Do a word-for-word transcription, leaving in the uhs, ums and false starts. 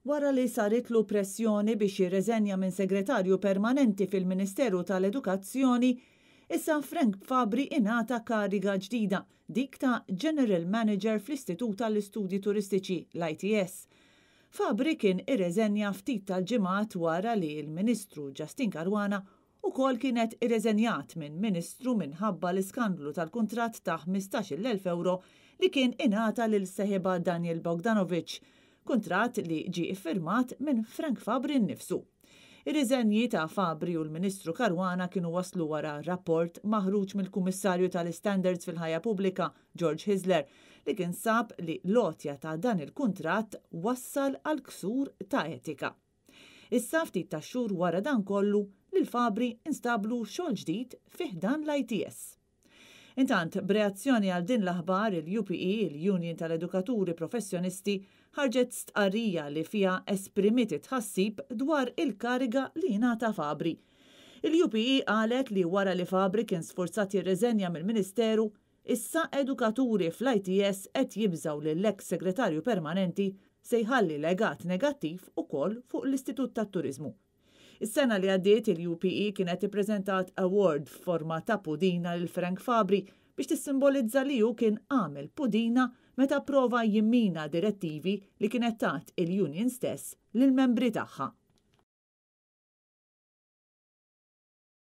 Wara li saritlu pressjoni biex jirreżenja minn segretarju permanenti fil-Ministeru tal-Edukazzjoni, issa Frank Fabri ingħata kariga ġdida, dik ta' General Manager fl-Istitut tal-Istudji Turistiċi, l-I T S. Fabri kien irreżenja ftit tal-ġimgħat wara li l-Ministru Justyne Caruana ukoll kienet irreżenjat minn Ministru minħabba l-iskandlu tal-kuntratt ta' ħmistax-il elf euro li kien ingħata lil seħibha Daniel Bogdanovic, kuntratt li ġie iffirmat minn Frank Fabri nnifsu. Ir-riżenji ta' Fabri u l-Ministru Caruana kienu waslu wara rapport maħruġ mill-Kummissarju tal-Standards fil-Ħajja Pubblika, George Hyzler, li kien sab li l-għotja ta' dan il-kuntratt wassal għal ksur ta' etika. Issa, ftit ta' xhur wara dan kollu, lil Fabri instablu xogħol ġdid fi ħdan l-I T S. Intant, b'reazzjoni għal din l-aħbar, il-U P E, il-Union tal-Edukaturi Professjonisti, ħarġet stqarrija li fiha esprimiet tħassib dwar il-kariga li ngħata Fabri. Il-U P E qalet li wara li Fabri kien sforzat jirreżenja mill-Ministeru, issa edukaturi fl-I T S qed jibżaw li l-ex segretarju permanenti se jħalli legat negattiv ukoll fuq l-Istitut tat-Turizmu. Is-sena li għaddiet, il-U P E kienet ippreżentat award f'forma ta' pudina lil Frank Fabri biex tissimbolizza li hu kien għamel pudina meta prova jimmina direttivi li kienet tat il-union stess lil membri tagħha.